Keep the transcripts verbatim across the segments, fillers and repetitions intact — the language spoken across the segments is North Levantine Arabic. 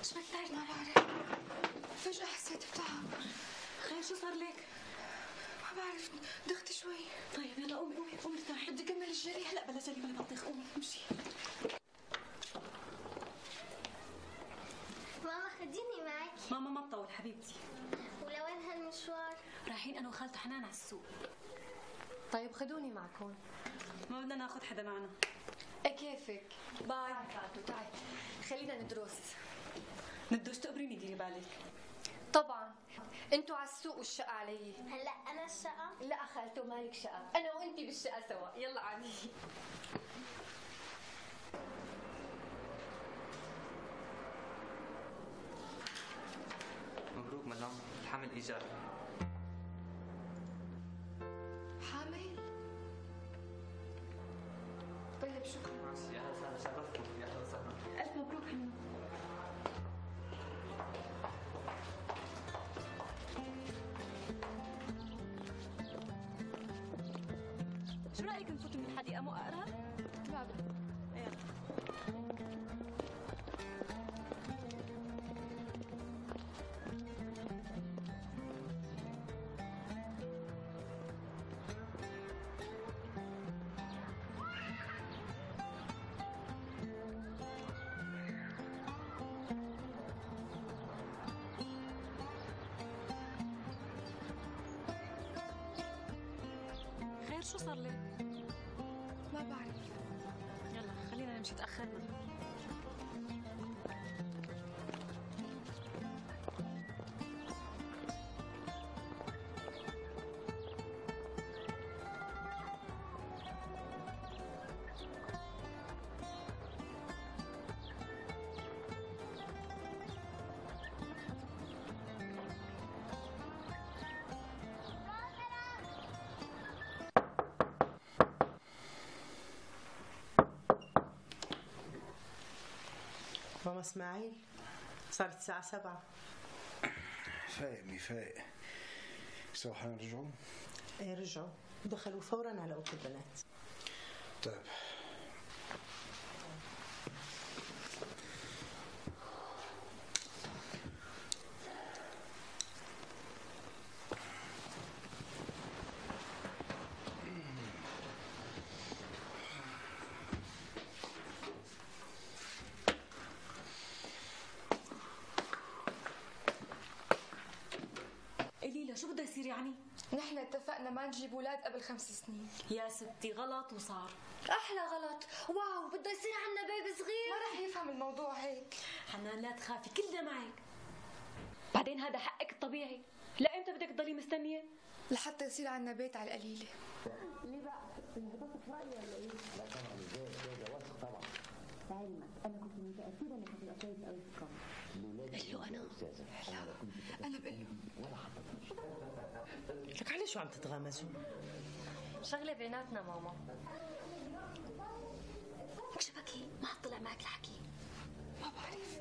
شو بدك؟ ما بعرف، فجأة حسيت بتعب. خير شو صار لك؟ ما بعرف، دخت شوي. طيب يلا قومي قومي قومي ارتاحي. بدي كمل الجري. هلا بلا جري بلا بطيخ، قومي امشي. ماما خديني معك. ماما ما بطول حبيبتي. ولوين هالمشوار؟ رايحين انا وخالته حنان على السوق. طيب خدوني معكم. ما بدنا ناخذ حدا معنا. ايه كيفك؟ باي. تعي خلينا ندرس. ندرس تقبريني ديري بالك. طبعا انتوا على السوق والشقة علي. هلا انا الشقة؟ لا خالته مالك شقة، انا وانتي بالشقة سوا. يلا عادي. مبروك مدام، الحمل ايجابي. حامل؟ طيب شكرا. يا هلا وسهلا، شرفتكم. يا هلا وسهلا. الف مبروك حنان. شو رايك نفوت من الحديقه مو اقرب؟ لا يلا. خير شو صار لك؟ ما بعرف. يلا خلينا نمشي، تأخرنا. ماما اسماعيل، صارت الساعة سبعة. فايق مي فايق. سوا حنرجعوا؟ ايه رجعوا، دخلوا فورا على اوضة البنات. طيب. ليلى شو بده يصير يعني؟ نحن اتفقنا ما نجيب اولاد قبل خمس سنين. يا ستي غلط وصار. احلى غلط. واو بده يصير عنا بيبي صغير. ما رح يفهم الموضوع هيك. حنان لا تخافي، كلنا معك. بعدين هذا حقك الطبيعي. لا امتى بدك تضلي مستنيه؟ لحتى يصير عنا بيت على القليله. ليه بقى؟ انضبطت في رايي ولا ايه؟ لا طبعا ازاي ازاي ده واثق طبعا. لعلمك انا كنت متاكده انك هتبقى كويس قوي في الكاميرا. قال له انا. لا انا بقول له. لك علي شو عم تتغامزوا؟ شغله بيناتنا ماما. شو بكي؟ ما حطلع معك الحكي. ما بعرف.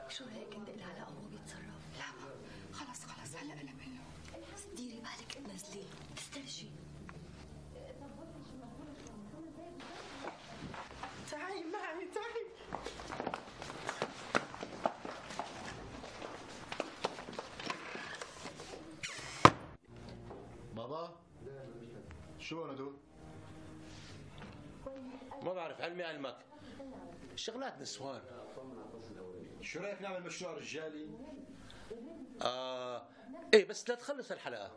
شو هيك انت قلها لا هو بيتصرف؟ لا ما خلص خلص هلا انا بقول له. بس ديري بالك تنزليه، تسترجي. تعي معي تعي. بابا شو هون هدول؟ ما بعرف، علمي علمك شغلات نسوان. شو رايك نعمل مشروع رجالي؟ آه ايه بس لا تخلص الحلقة.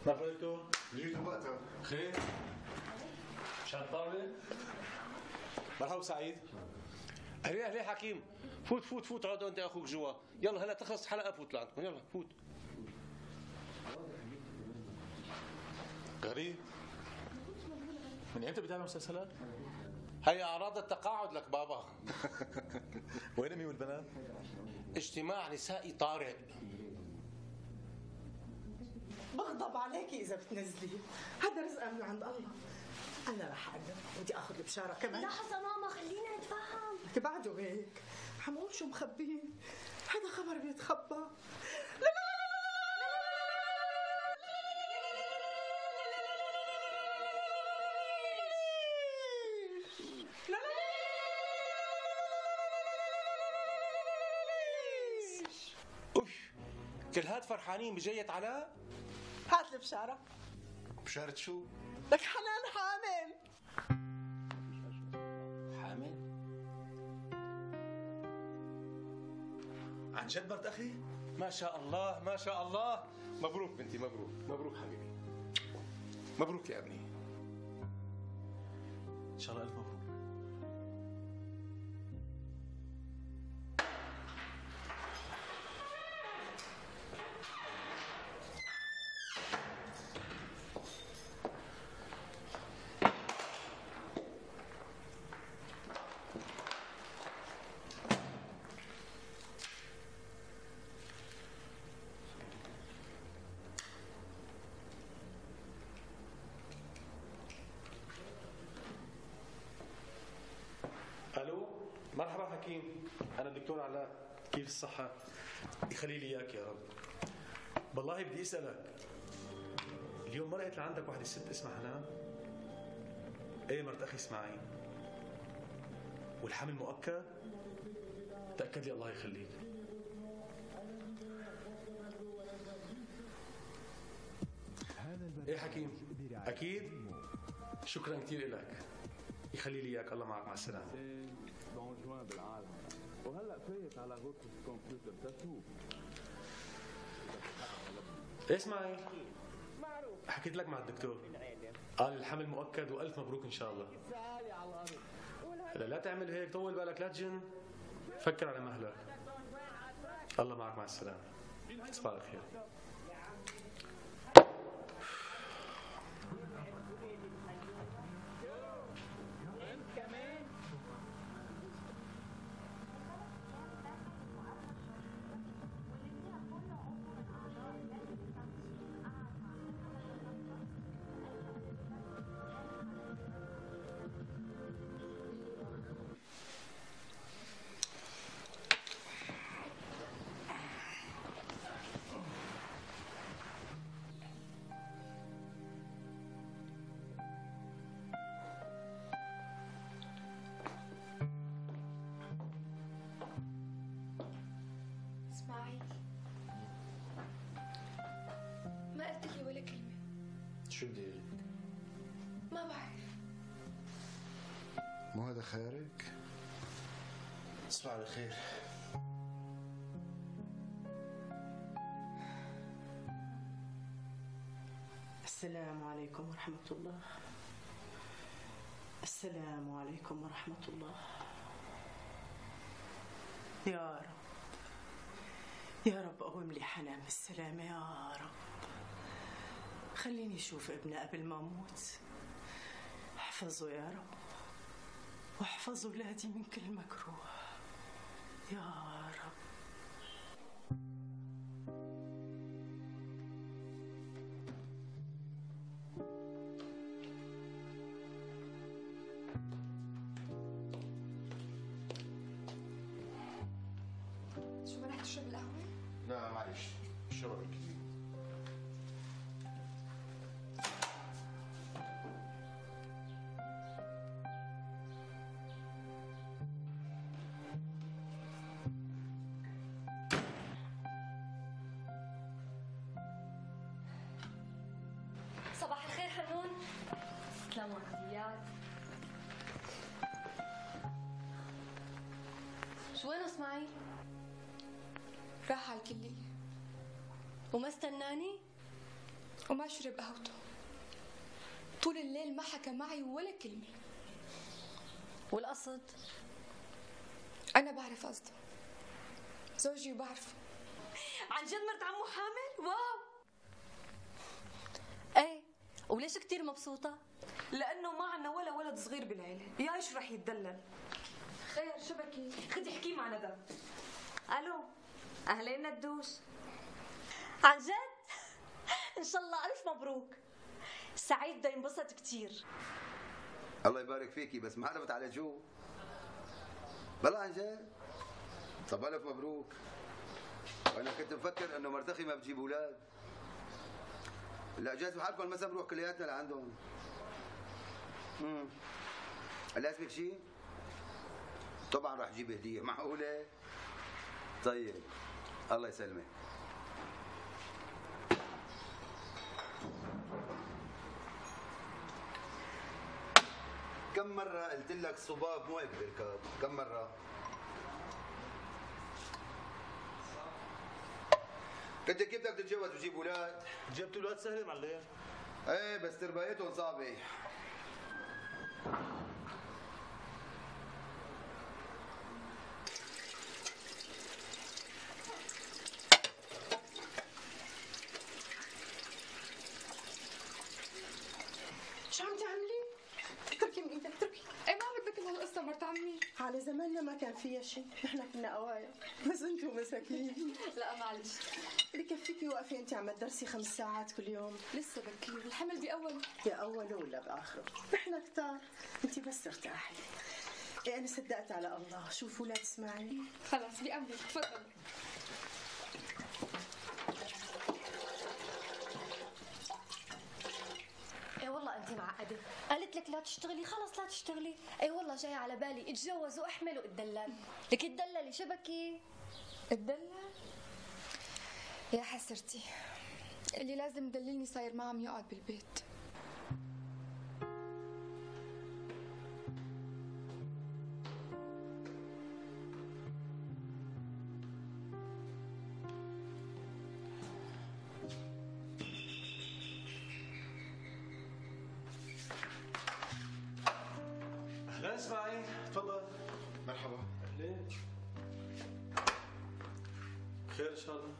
ما فهمتوا؟ جيتوا بوقتها. خير؟ مشان الطاولة؟ مرحبا سعيد. اهلين اهلين حكيم، فوت فوت فوت اقعد انت اخوك جوا. يلا هلا تخلص الحلقة فوت لعندكم، يلا فوت. غريب. من امتى بتابع مسلسلات؟ هي اعراض التقاعد لك بابا. وين امي والبنات؟ اجتماع نسائي طارئ. بغضب عليكي اذا بتنزلي، هذا رزق من عند الله. انا رح اقدر، بدي اخذ البشاره كمان. لحظه ماما خلينا نتفاهم. بعده هيك حمقول شو مخبيه. هذا خبر بيتخبى. لا لا لا اوف، كل هاد فرحانين بجية علاء؟ هات لي بشارة. بشارة شو؟ لك حنان حامل. حامل؟ عن جد مرت اخي؟ ما شاء الله ما شاء الله. مبروك بنتي، مبروك مبروك حبيبي، مبروك يا ابني. ان شاء الله الف مبروك. الو، مرحبا حكيم، انا الدكتور علاء، كيف الصحة؟ يخلي لي اياك يا رب. والله بدي اسألك، اليوم ما لقيت لعندك وحدة ست اسمها حنان؟ ايه مرت اخي اسماعيل. والحمل مؤكد؟ تأكد لي الله يخليك. ايه حكيم، اكيد؟ شكرا كثير لك، يخلي لي اياك، الله معك، مع السلامة. بالعالم وهلا فايت على غرفة الكمبيوتر تشوف. اسمعي، حكيت لك مع الدكتور، قال الحمل مؤكد والف مبروك ان شاء الله. لا لا تعمل هيك، طول بالك، لا تجن، فكر على مهلك. الله معك، مع السلامة، تصبح على خير. ما قلت لي ولا كلمة. شو بدي اقول؟ ما بعرف. مو هذا خيارك؟ تصبح على خير. السلام عليكم ورحمة الله. السلام عليكم ورحمة الله. يا رب يا رب قوم لي حنان بالسلامة يا رب. خليني أشوف ابني قبل ما أموت. احفظه يا رب، واحفظ أولادي من كل مكروه يا رب. شو ما رح تشرب القهوة؟ لا معلش، الشرب الكثير. صباح الخير حنون. تسلموا عزيات. شو وين اسماعيل؟ راح على الكلية وما استناني وما شرب قهوته طول الليل، ما حكى معي ولا كلمة. والقصد؟ أنا بعرف قصده، زوجي وبعرفه. عن جد مرت عمو حامل؟ واو. ايه، وليش كتير مبسوطة؟ لأنه ما عنا ولا ولد صغير بالعيلة، يا ايش رح يتدلل. خير شو بكي؟ خدي احكي مع ندى. الو، اهلين ندوس. عن جد؟ ان شاء الله الف مبروك. سعيد بده ينبسط كتير. الله يبارك فيكي، بس ما عرفت على جو. بلا عن جد؟ طب الف مبروك. وانا كنت مفكر انه مرتخي ما بتجيب اولاد. لا جاز بحالكم مثلا نروح كلياتنا لعندهم. امم لازمك شيء؟ طبعا راح اجيب هديه. معقوله؟ طيب الله يسلمك. كم مرة قلت لك صباب مو هيك بركب؟ كم مرة؟ انت كيف بدك تتجوز وتجيب اولاد؟ جبت اولاد سهله معلم. ايه بس تربايتهم صعبة. شو عم تعملي؟ اتركي من ايدك اتركي. ايه ما بدك هالقصة مرت عمي. على زماننا ما كان فيها شيء، نحن كنا قوايا، بس انتم مساكين. لا معلش. بكفيكي وقفي انت عم تدرسي خمس ساعات كل يوم. لسه بكير، الحمل بأوله. بأوله ولا بآخره؟ نحن كتار، انت بس ارتاحي. ايه انا صدقت على الله، شوفوا ولاد اسماعيل. خلص بأمرك، تفضل. ايه والله انت معقده، قالت لك لا تشتغلي خلص لا تشتغلي. ايه والله جاي على بالي اتجوز واحمل واتدلل. لك اتدللي شبكي. اتدلل؟ يا حسرتي، اللي لازم يدللني صاير ما عم يقعد بالبيت. اهلا اسماعيل، تفضل. مرحبا. اهلين. خير ان شاء الله.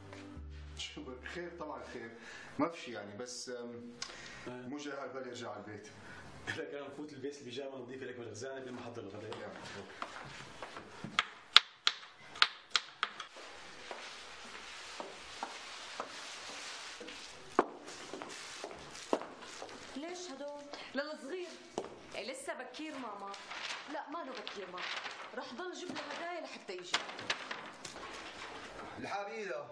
شو خير؟ طبعا خير، ما في شيء يعني، بس مو جاي على بالي ارجع على البيت. لك انا بفوت البيت البيجامه نظيفه لك بالغزانه قبل ما احضر الغداء. ليش هدول؟ للصغير. إيه لسه بكير ماما. لا ما له بكير ماما، رح ضل جيب له هدايا لحتى يجي. الحاب ايدها،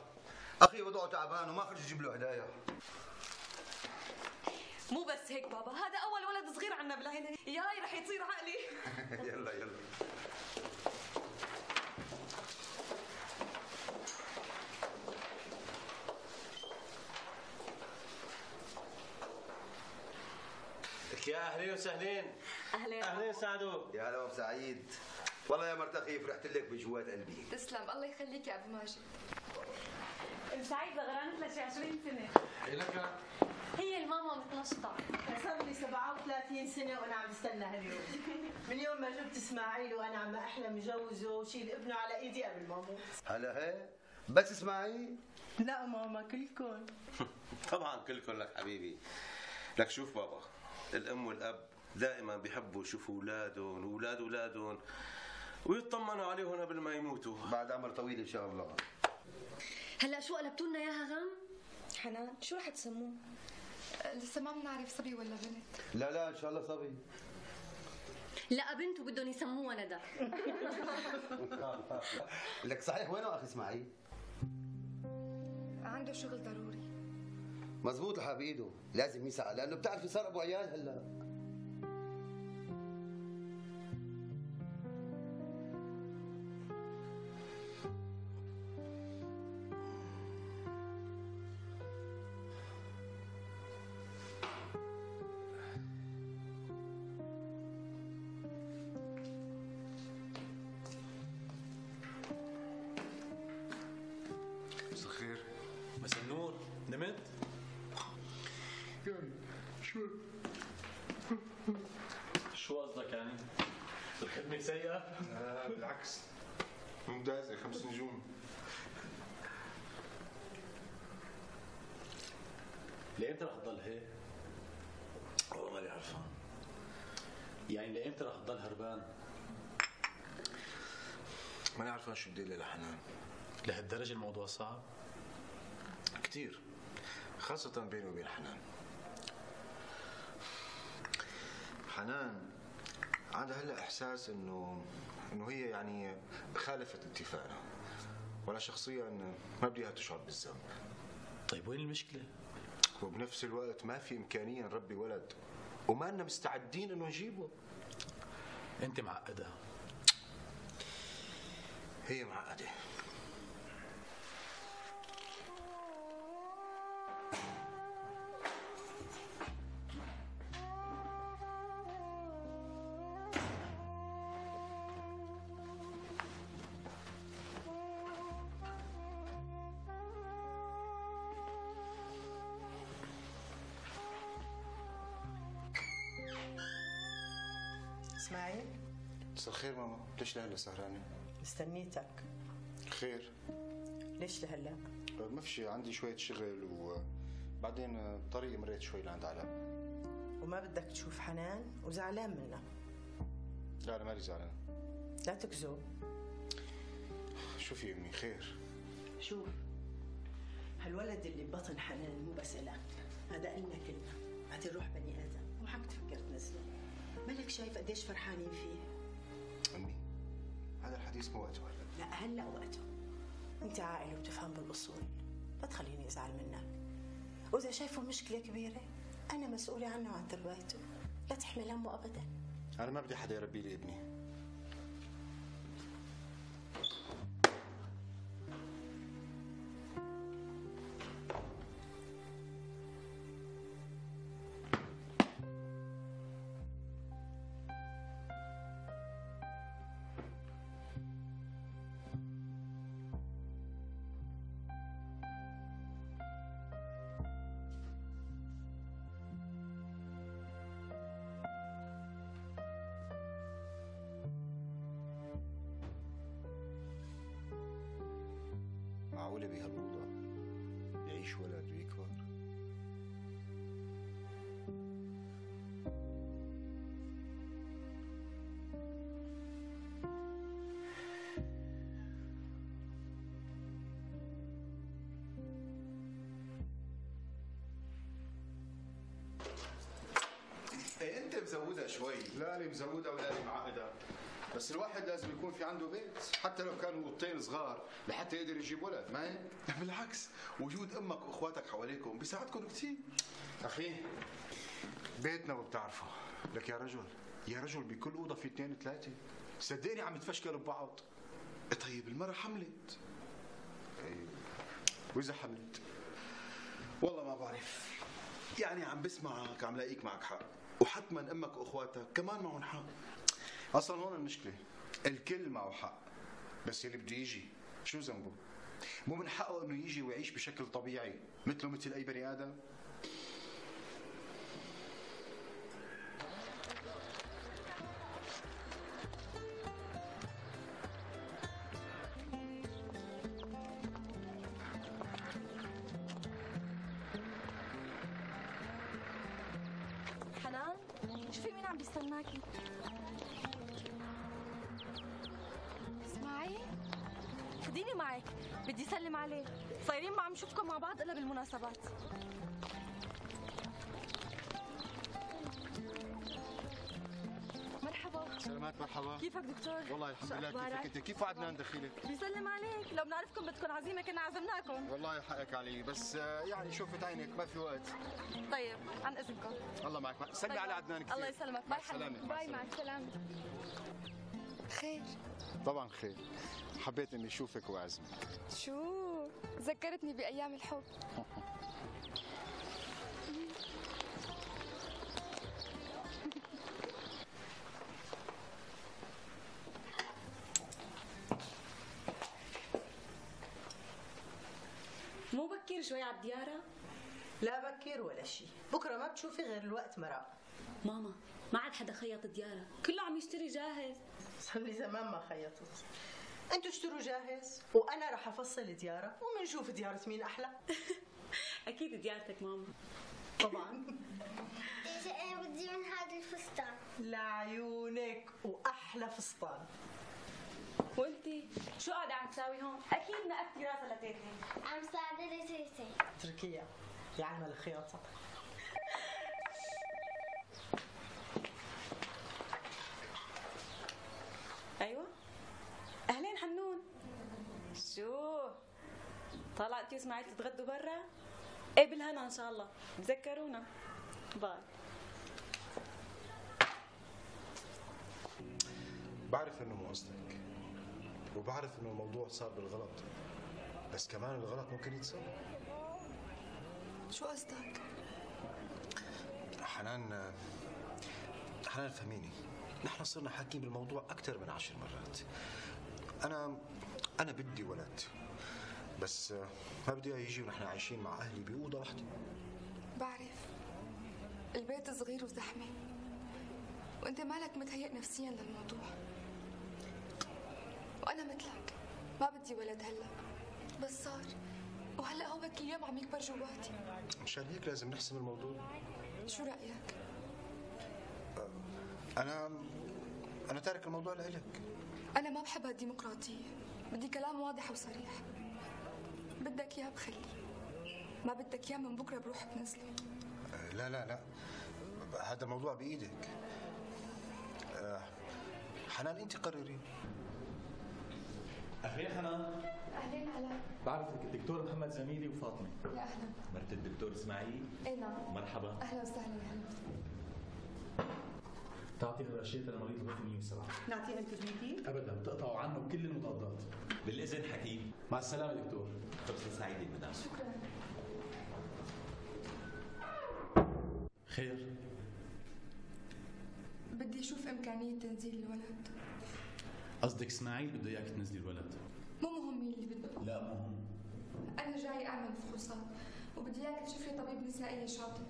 اخي وضعه تعبان وما خرج يجيب له هدايا. مو بس هيك بابا، هذا أول ولد صغير عنا بالعيلة، ياي رح يصير عقلي. يلا يلا. يا اهلين وسهلين. اهلين اهلين سعدو. يا هلا سعيد. والله يا مرتخي فرحت لك بجوات قلبي. تسلم، الله يخليك يا ابو ماجد. ام سعيد غرانت لها شي عشرين سنة. لك هي الماما متنشطة. صار لي سبعة وثلاثين سنة وأنا عم بستنى هاليوم. من يوم ما جبت إسماعيل وأنا عم أحلم جوزه وشيل ابنه على إيدي قبل ما أموت. هلا هي بس إسماعيل؟ لا ماما كلكم. طبعا كلكم لك حبيبي. لك شوف بابا، الأم والأب دائما بيحبوا يشوفوا أولادهم وأولاد أولادهم ويطمنوا عليهم قبل ما يموتوا. بعد عمر طويل إن شاء الله. هلا شو قلبتوا لنا اياها غم؟ حنان، شو رح تسموه؟ لسه ما بنعرف صبي ولا بنت. لا لا ان شاء الله صبي. لا بنت وبدهم يسموها ندى. لك صحيح وينه اخي اسماعيل؟ عنده شغل ضروري. مزبوط لحق بايده، لازم يسعى لانه بتعرفي صار ابو عيال هلا. مساء الخير. مساء النور، نمت؟ يعني شو شو قصدك يعني؟ الخدمة سيئة؟ آه بالعكس ممتازة، خمس نجوم. لإمتى رح تضل هيك؟ والله ماني عرفان. يعني لإمتى رح تضل هربان؟ ماني عرفان شو بدي لها لحنان. لهالدرجة الموضوع صعب؟ كثير، خاصة بيني وبين حنان. حنان عندها هلا احساس انه انه هي يعني خالفت اتفاقنا، وانا شخصيا ما بدي اياها تشعر بالذنب. طيب وين المشكله؟ وبنفس الوقت ما في امكانيه نربي ولد وما لنا مستعدين انه نجيبه. انت معقده. هي معقده. اسماعيل، مساء الخير ماما، ليش لهلا سهرانه؟ مستنيتك. خير؟ ليش لهلا؟ ما في شيء، عندي شويه شغل وبعدين بطريقي مريت شوي لعند علاء. وما بدك تشوف حنان وزعلان منها؟ لا انا مالي زعلان. لا تكذب. شوفي امي، خير. شوف، هالولد اللي ببطن حنان مو بس إلك، هذا إلنا كلنا، بعدين روح بني آدم، مو حق تفكر تنزله. مالك شايف قديش فرحانين فيه؟ امي هذا الحديث مو وقته هلا. لا هلا وقته. انت عاقل وبتفهم بالاصول، لا تخليني ازعل منك. واذا شايفه مشكله كبيره انا مسؤوله عنه وعن تربيته، لا تحمل همه ابدا. انا ما بدي حدا يربي لي ابني. معقولة بهالأوضة يعيش ولد ويكبر؟ ايه انت مزودها شوي. لا لي مزودها ولا لي معقدة، بس الواحد لازم يكون في عنده بيت، حتى لو كانوا اوضتين صغار لحتى يقدر يجيب ولد، ما هيك؟ بالعكس، وجود امك واخواتك حواليكم بيساعدكم كثير. اخي بيتنا وبتعرفه، لك يا رجل يا رجل بكل اوضه في اثنين ثلاثه، صدقني عم يتفشكلوا ببعض. طيب المرة حملت. طيب واذا حملت؟ والله ما بعرف، يعني عم بسمعك عم لاقيك معك حق، وحتما امك واخواتك كمان معهم حق. اصلا هون المشكله، الكل معه حق، بس اللي بده يجي شو ذنبه؟ مو من حقه انه يجي ويعيش بشكل طبيعي مثله مثل اي بني ادم؟ حنان، شوفي مين عم بيستناكي. اسمعي، خديني معك، بدي اسلم عليه، صايرين ما عم نشوفكم مع بعض الا بالمناسبات. مرحبا. سلامات، مرحبا. كيفك دكتور؟ والله الحمد لله. كيفك انت؟ كيف وعدنا ندخلك؟ بيسلم عليك، لو بنعرفكم بدكم عزيمه كنا عزمناكم. والله حقك علي، بس يعني شوفت عينك ما في وقت. طيب عن اذنكم. الله معك، سلمي طيب. على عدنان كثير. الله يسلمك، باي حبيبي. باي، مع السلامه. خير؟ طبعا خير، حبيت اني اشوفك واعزمك. شو؟ ذكرتني بايام الحب. مو بكير شوي على الديارة؟ لا بكير ولا شيء، بكره ما بتشوفي غير الوقت مرق. ماما ما عاد حدا خيط الديارة، كله عم يشتري جاهز. صار لي زمان ما خيطت. انتوا اشتروا جاهز وانا رح افصل ديارة ومنشوف ديارة مين احلى. اكيد ديارتك ماما. طبعا. انا بدي من هذا الفستان. لعيونك، واحلى فستان. وانتي شو قاعدة عم تساوي هون؟ اكيد نقفتي راسها لتيتي. عم ساعدها لتيتي. اتركيها، يعلم الخياطة. ايوه طالع انت واسماعيل تتغدوا برا؟ ايه بالهنا ان شاء الله، تذكرونا. باي. بعرف انه مو قصدك، وبعرف انه الموضوع صار بالغلط، بس كمان الغلط ممكن يتصلح. شو قصدك؟ حنان حنان فهميني، نحن صرنا حاكين بالموضوع أكثر من عشر مرات. أنا أنا بدي ولد، بس ما بدي إياه يجي ونحن عايشين مع أهلي بأوضة واحدة. بعرف البيت صغير وزحمة، وأنت مالك متهيئ نفسيا للموضوع، وأنا مثلك ما بدي ولد هلا، بس صار، وهلا هو كل يوم عم يكبر جواتي. مشان هيك لازم نحسم الموضوع. شو رأيك؟ أنا أنا تارك الموضوع لإلك. أنا ما بحب هالديمقراطية، بدي كلام واضح وصريح. بدك إياه بخليه، ما بدك إياه من بكرة بروح بنزله. لا لا لا، هذا الموضوع بإيدك. حنان أنت قرري. أهلين حنان. أهلين علاء. بعرفك الدكتور محمد زميلي وفاطمة. يا أهلا. مرت الدكتور إسماعيل؟ إيه نعم. مرحبا. أهلا وسهلا. أهلا. تعطي الرشيدة لمريض الغرفة مية وسبعة. نعطيه انتجميتي؟ أبدا، بتقطعوا عنه كل المضادات. بالإذن حكيم. مع السلامة دكتور. فرصة سعيدة مدام. شكرا. خير؟ بدي أشوف إمكانية تنزيل الولد. قصدك إسماعيل بده إياك تنزلي الولد؟ مو مهم مين اللي بده. لا مهم. أنا جاي أعمل فحوصات، وبدي إياك تشوف لي طبيب نسائي شاطر.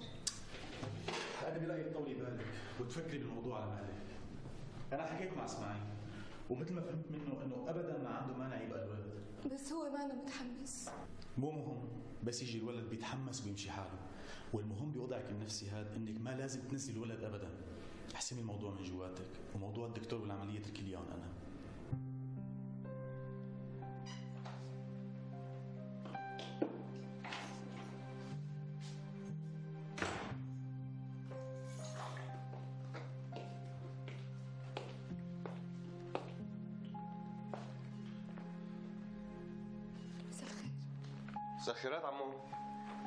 أنا برأيي تطولي بالك وتفكري بالموضوع على مهلك. أنا حكيت مع إسماعيل، ومثل ما فهمت منه إنه أبدا ما عنده مانع يبقى الولد. بس هو ما أنا متحمس. مو مهم، بس يجي الولد بيتحمس ويمشي حاله، والمهم بوضعك النفسي هذا إنك ما لازم تنزلي الولد أبدا. احسمي الموضوع من جواتك، وموضوع الدكتور والعملية اتركي لي إياهم أنا. مساء الخيرات عمو.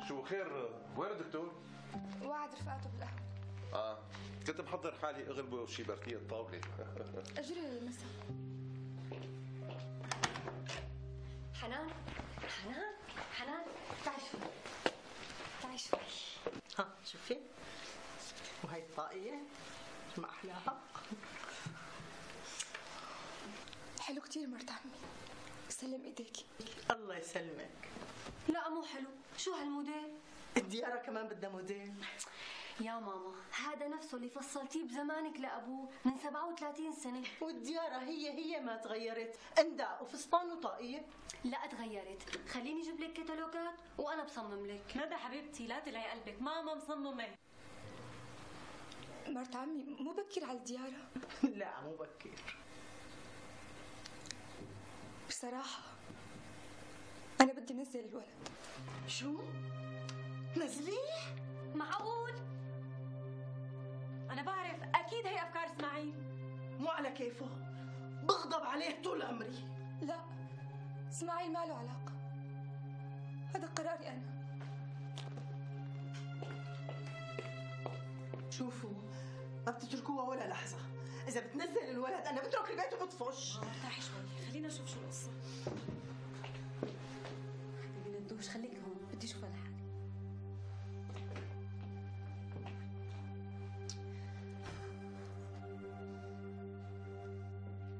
شو خير؟ وين الدكتور؟ وعد رفقاته بالقهوة. اه كنت محضر حالي اغلبه شي بركية طاولة. اجري للمساء. حنان حنان حنان تعي شوي تعي شوي. ها شوفي، وهي الطاقية ما أحلاها. حلو كتير مرت عمي، سلم ايديكي. الله يسلمك. لا مو حلو، شو هالموديل؟ الديارة كمان بدها موديل. يا ماما هذا نفسه اللي فصلتيه بزمانك لأبوه من سبعة وثلاثين سنة. والديارة هي هي ما تغيرت، انداء وفستان وطاقية. لا تغيرت، خليني اجيب لك كتالوجات وانا بصمم لك. ندى حبيبتي لا تلعي قلبك، ماما مصممة. مرت عمي مو بكير على الديارة. لا مو بكير. بصراحة أنا بدي نزل الولد. شو؟ نزليه؟ معقول؟ أنا بعرف أكيد هي أفكار إسماعيل. مو على كيفه، بغضب عليه طول عمري. لا إسماعيل ما له علاقة، هذا قراري أنا. شوفوا ما بتتركوها ولا لحظة، إذا بتنزل الولد أنا بترك البيت وبطفش. ارتاحي شوي، خلينا نشوف شو القصة. حبيبي ندوش خليك هون، بدي أشوفها لحالي.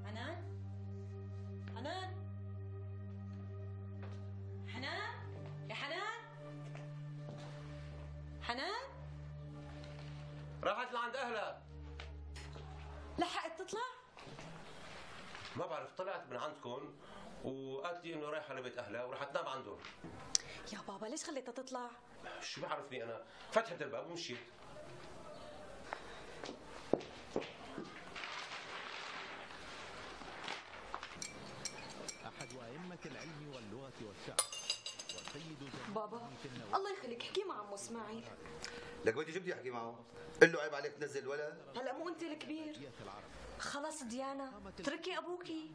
حنان؟ حنان؟ حنان؟ يا حنان؟ حنان؟ راحت لعند اهلها. لحقت تطلع؟ ما بعرف، طلعت من عندكم وقالت لي انه رايحه لبيت اهلها وراح تنام عندهم. يا بابا ليش خليتها تطلع؟ شو بعرفني انا، فتحت الباب ومشيت. أحد أئمة العلم واللغة والشعر والسيد بابا الله يخليك احكي مع عمو اسماعيل. لك بدي شو بدي احكي معه؟ قل له عيب عليك تنزل الولد. هلا مو انت الكبير. خلص ديانا تركي ابوكي.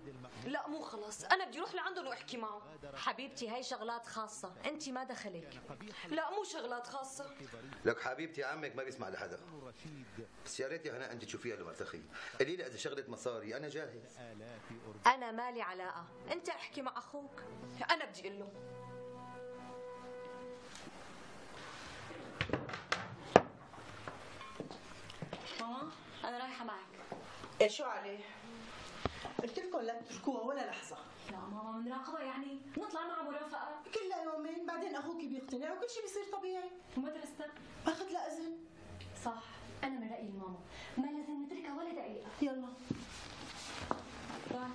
لا مو خلص، انا بدي اروح لعندهم واحكي معه. حبيبتي هاي شغلات خاصه، انت ما دخلك. لا مو شغلات خاصه. لك حبيبتي عمك ما بيسمع لحدا، بس يا ريت يا هنا انت تشوفيها لمرتخي. قولي لي اذا شغله مصاري انا جاهز. انا مالي علاقه، انت احكي مع اخوك، انا بدي اقول له. ماما انا رايحه معك. ايه شو عليه؟ قلت لكم لا تتركوها ولا لحظه. لا ماما بنراقبها يعني نطلع مع مرافقه كلها يومين بعدين اخوك بيقتنع وكل شيء بيصير طبيعي. ومدرستها اخذ لها اذن. صح، انا من رايي الماما ما لازم نتركها ولا دقيقه. يلا باي.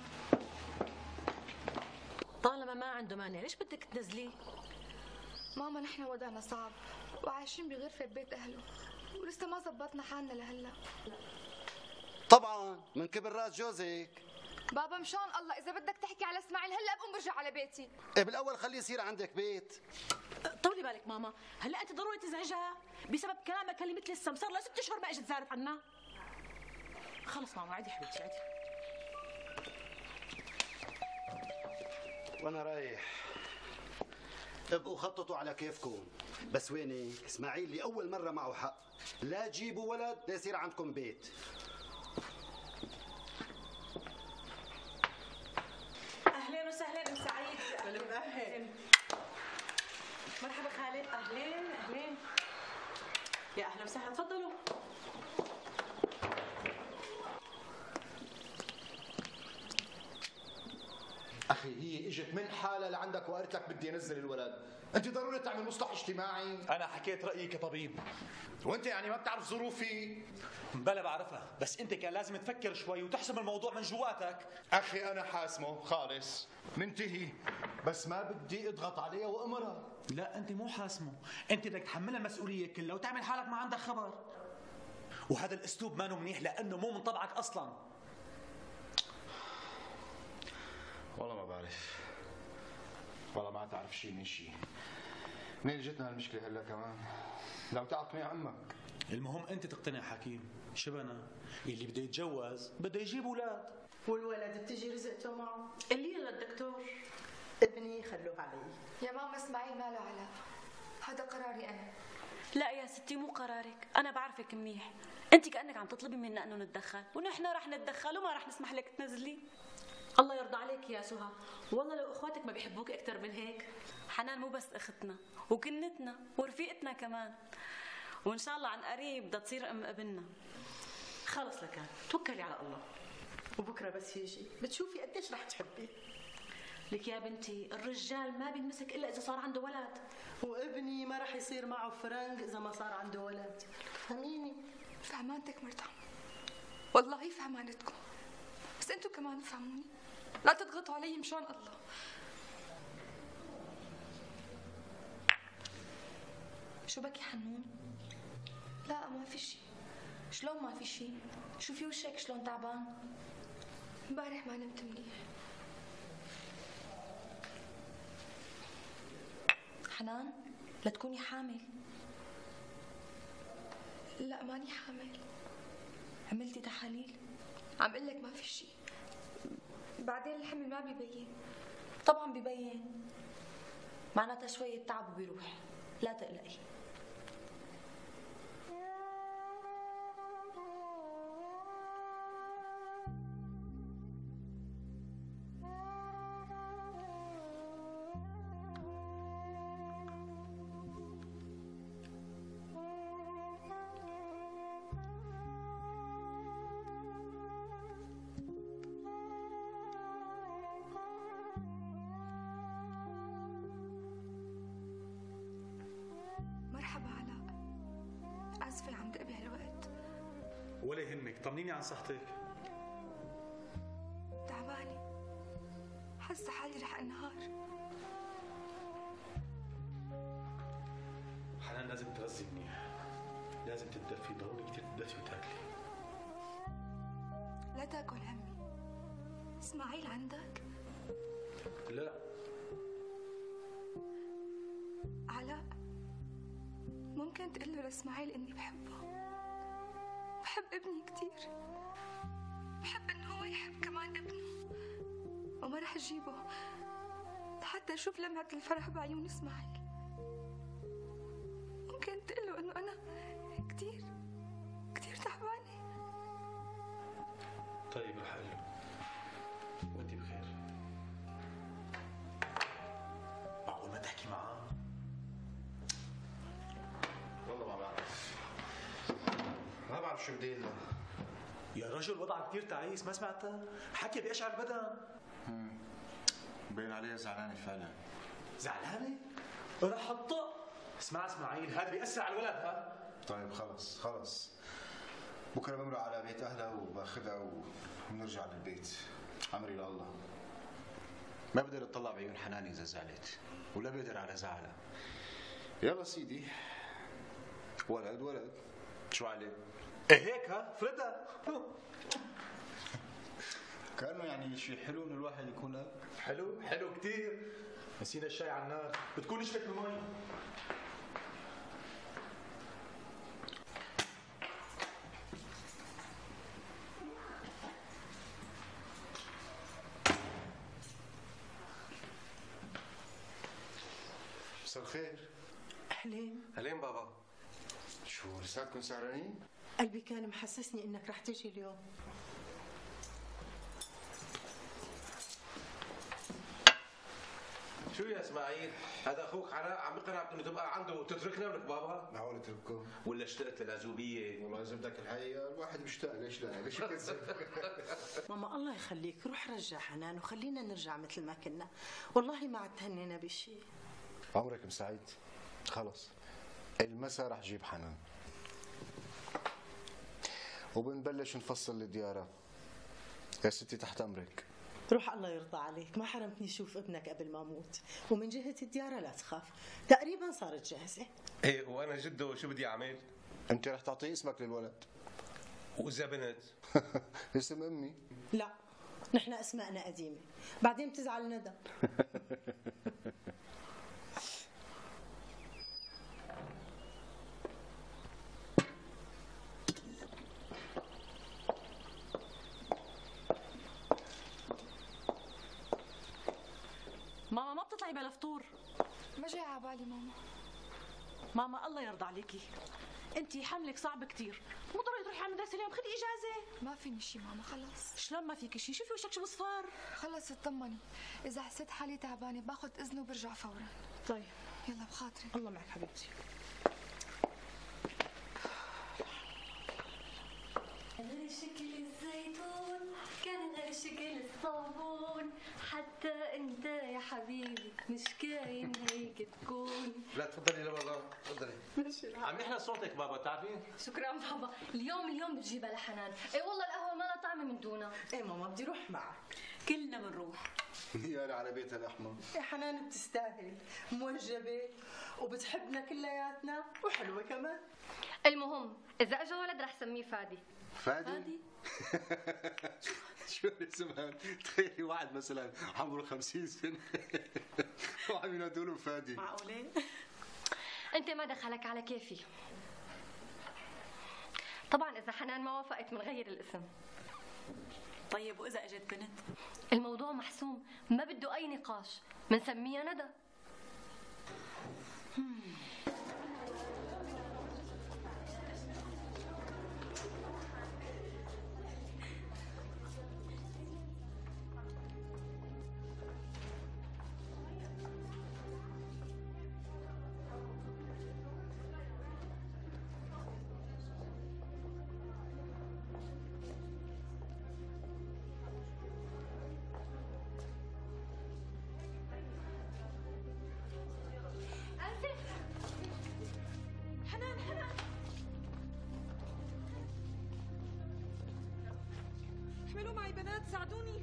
طالما ما عنده مانع ليش بدك تنزليه؟ ماما نحن وضعنا صعب وعايشين بغرفة بيت أهله ولسه ما زبطنا حالنا لهلا. طبعا من كبر راس جوزك. بابا مشان الله إذا بدك تحكي على إسماعيل هلا بقوم برجع على بيتي. إيه بالأول خليه يصير عندك بيت. طولي بالك ماما، هلا أنت ضروري تزعجها بسبب كلامك اللي مثل السم، صار لها ست أشهر ما إجت زارت عنا. خلص ماما عادي حبيبتي عادي. وانا رايح ابقوا خططوا على كيفكم، بس وينك اسماعيل اللي اول مره معه حق، لا تجيبوا ولد ليصير عندكم بيت. اهلين وسهلين ام سعيد. اهلا. مرحبا خالد. اهلين اهلين يا اهلا وسهلا، تفضلوا. اخي هي اجت من حالها لعندك وقالت لك بدي انزل الولد، انت ضروري تعمل مصلح اجتماعي. انا حكيت رايي كطبيب. وانت يعني ما بتعرف ظروفي؟ بلا بعرفها، بس انت كان لازم تفكر شوي وتحسم الموضوع من جواتك. اخي انا حاسمه خالص، ننتهي، بس ما بدي اضغط عليها وامرها. لا انت مو حاسمه، انت بدك تحملها المسؤوليه كلها وتعمل حالك ما عندك خبر. وهذا الاسلوب ما منيح لانه مو من طبعك اصلا. والله ما بعرف، والله ما تعرف شيء من شيء. منين جتنا هالمشكله هلا كمان؟ لو تعطني عمك. المهم انت تقتنع حكيم، شبنا اللي بده يتجوز بده يجيب اولاد، والولد بتجي رزقته معه. اللي للدكتور ابني خلوه علي. يا ماما اسماعيل ما له علاقة، هذا قراري أنا. لا يا ستي مو قرارك، أنا بعرفك منيح. أنت كأنك عم تطلبي منا إنه نتدخل، ونحن رح نتدخل وما رح نسمح لك تنزلي. الله يرضى عليك يا سهى، والله لو اخواتك ما بيحبوك اكثر من هيك. حنان مو بس اختنا وكنتنا ورفيقتنا كمان، وان شاء الله عن قريب بدها تصير ام ابننا. خلص لكان توكلي على الله، وبكره بس يجي بتشوفي قديش رح تحبي. لك يا بنتي الرجال ما بينمسك الا اذا صار عنده ولد، وابني ما رح يصير معه فرنك اذا ما صار عنده ولد. فهميني؟ فهمانتك مرتاح، والله فهمانتكم، بس انتوا كمان فهموني، لا تضغطوا علي مشان الله. شو بكي حنون؟ لا ما في شيء. شلون ما في شيء؟ شوفي وشك شلون تعبان. امبارح ما نمت منيح. حنان لا تكوني حامل. لا ماني حامل. عملتي تحاليل؟ عم قلك ما في شيء، بعدين الحمل ما بيبين. طبعا ببين، معناتها شوية تعب وبيروح، لا تقلقي. مرحبا علاء، آسفة عم دق بهالوقت. ولا يهمك، طمنيني عن صحتك. تعبانة، حاسة حالي رح انهار. حنان لازم تغذي منيح، لازم تتدفي، ضروري كثير تتدفي وتاكلي. لا تاكل همي. اسماعيل عندك؟ لا. علاء ممكن تقول له لاسماعيل اني بحبه، بحب ابني كثير. بحب إنه هو يحب كمان ابنه، وما رح أجيبه حتى أشوف لمعة الفرح بعيون إسماعيل. ممكن تقول له إنه أنا كتير كتير تعبانة. طيب رح أقول له وأنت بخير. معقول ما تحكي معاه؟ والله ما بعرف ما بعرف شو بدي له. يا رجل وضعك كثير تعيس، ما سمعتها؟ حكي بيشعر البدن. باين عليها زعلانه فعلا. زعلانه؟ رح الطق. اسمع اسماعيل، هذا بيأثر على الولد. ها طيب خلص خلص، بكره بمرق على بيت اهلها وباخذها وبنرجع للبيت. امري لله. ما بقدر اطلع بعيون حنان اذا زعلت، ولا بقدر على زعلها. يلا سيدي، ولد ولد شو عليه؟ ايه هيك ها فردها. كانه يعني شيء حلو انه الواحد يكون اب. حلو حلو كثير. نسينا الشاي على النار، بتكون نشفت المي. مساء الخير. أهلين. أهلين بابا. شو لساتكم سهرانين؟ قلبي كان محسسني إنك رح تيجي اليوم. شو يا اسماعيل؟ هذا اخوك علاء عم يقنعك انه تبقى عنده وتتركنا ولك بابا؟ معقول اترككم؟ ولا اشتقت للعزوبيه؟ والله اذا بدك الحقيقه الواحد مشتاق، ليش لا؟ ليش يكذب؟ ماما الله يخليك روح رجع حنان وخلينا نرجع مثل ما كنا، والله ما عاد تهنينا بشيء. عمرك مسعيد؟ خلص المسا رح جيب حنان وبنبلش نفصل الديارة. يا ستي تحت امرك. روح الله يرضى عليك، ما حرمتني شوف ابنك قبل ما اموت، ومن جهة الديارة لا تخاف، تقريبا صارت جاهزة. ايه وانا جده شو بدي اعمل؟ انت رح تعطي اسمك للولد. واذا بنت؟ اسم امي. لا نحن اسماءنا قديمة، بعدين بتزعل ندى. ماما ما بتطلعي بلا فطور؟ ما جاي على بالي ماما. ماما الله يرضى عليكي، انتي حملك صعب كثير، مو ضروري تروحي على المدرسه اليوم، خدي اجازه. ما فيني شي ماما خلص. شلون ما فيك شي؟ شوفي وشك شو بصفار. خلص اطمني، اذا حسيت حالي تعبانه باخذ اذنه وبرجع فورا. طيب يلا بخاطري. الله معك حبيبتي. غير شكل الزيتون كان غير شكل الصابون، حتى انت يا حبيبي مش كاين هيك تكون. لا تفضلي لورا، تفضلي. ماشي عم يحلى صوتك بابا بتعرفين؟ شكرا بابا، اليوم اليوم بتجيبها لحنان. اي والله القهوه ما لها طعمه من دونها. ايه ماما بدي روح معك. كلنا بنروح. يا على بيتها الاحمر. يا حنان بتستاهل، موجبة وبتحبنا كلياتنا وحلوة كمان. المهم اذا اجى ولد رح سميه فادي. فادي؟ فادي؟ شو الاسم؟ تخيلي واحد مثلا عمره خمسين سنة وعم ينادوا له فادي. معقولة؟ انت ما دخلك على كيفي. طبعا اذا حنان ما وافقت بنغير الاسم. طيب واذا اجت بنت؟ الموضوع محسوم، ما بده اي نقاش، بنسميها ندى. حنان حنان احملوا معي بنات، ساعدوني.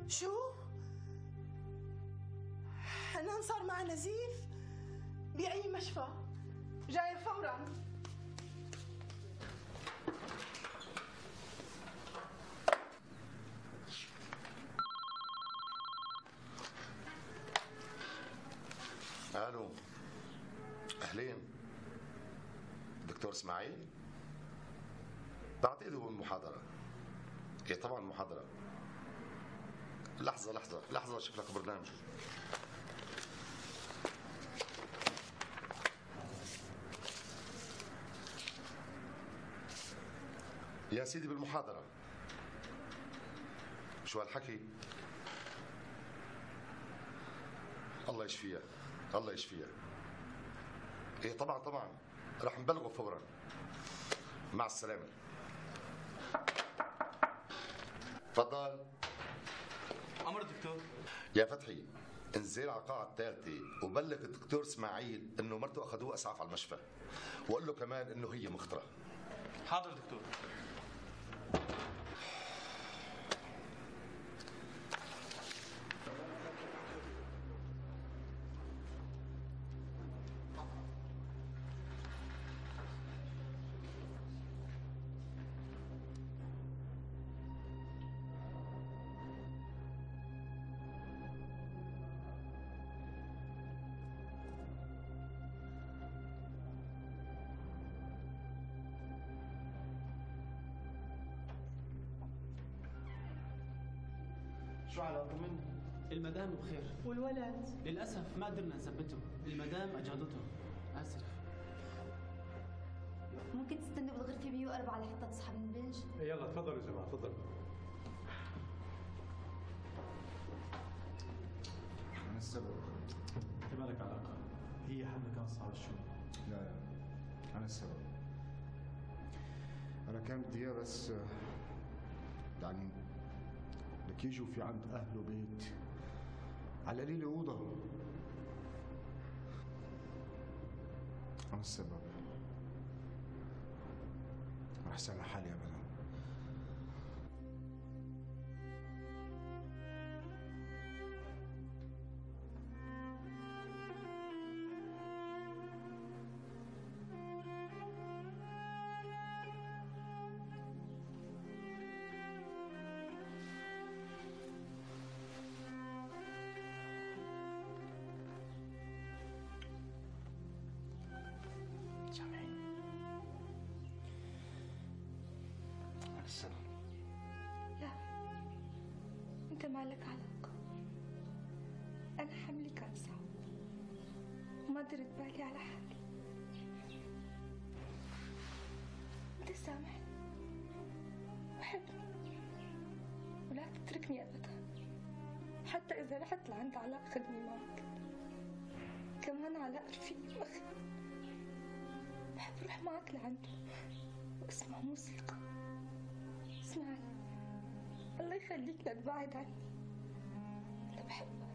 شو؟ حنان صار مع نزيف؟ بأي مشفى؟ جاية فورا. الو، اهلين. دكتور اسماعيل؟ بعتقد هو بالمحاضرة. ايه طبعا محاضرة. لحظة لحظة لحظة اشوف لك برنامج. يا سيدي بالمحاضرة. شو هالحكي؟ الله يشفيها، الله يشفيها. ايه طبعا طبعا رح نبلغه فورا. مع السلامة. تفضل. أمر دكتور. يا فتحي، انزل على القاعة الثالثة وبلغ الدكتور اسماعيل انه مرته اخذوه اسعاف على المشفى، وقول له كمان انه هي مخطرة. حاضر دكتور. شو علاقة منه؟ المدام بخير. والولد؟ للأسف ما قدرنا نثبته، المدام أجهضته. آسف. ممكن تستنوا بالغرفة مية وأربعة لحتى تصحى من البنج؟ يلا تفضلوا يا جماعة تفضلوا. من السبب؟ انت مالك علاقة؟ هي حملة كانت صعبة شوي. لا لا أنا السبب. أنا كان بدي إياه بس يعني بدك يجوا في عند أهله بيت على القليل أوضة. أنا السبب. ما رح سامح حالي أبدا. لا، انت ما لك علاقة. انا حملي كان صعب وما درت بالي على حالي. انت سامحني وحبني ولا تتركني ابدا، حتى اذا رحت لعند علاء خدني معك. كمان علاء رفيقي واخي، بحب اروح معك لعنده واسمع موسيقى. اسمعني، الله يخليك لا تبعد عني، أنا بحبك.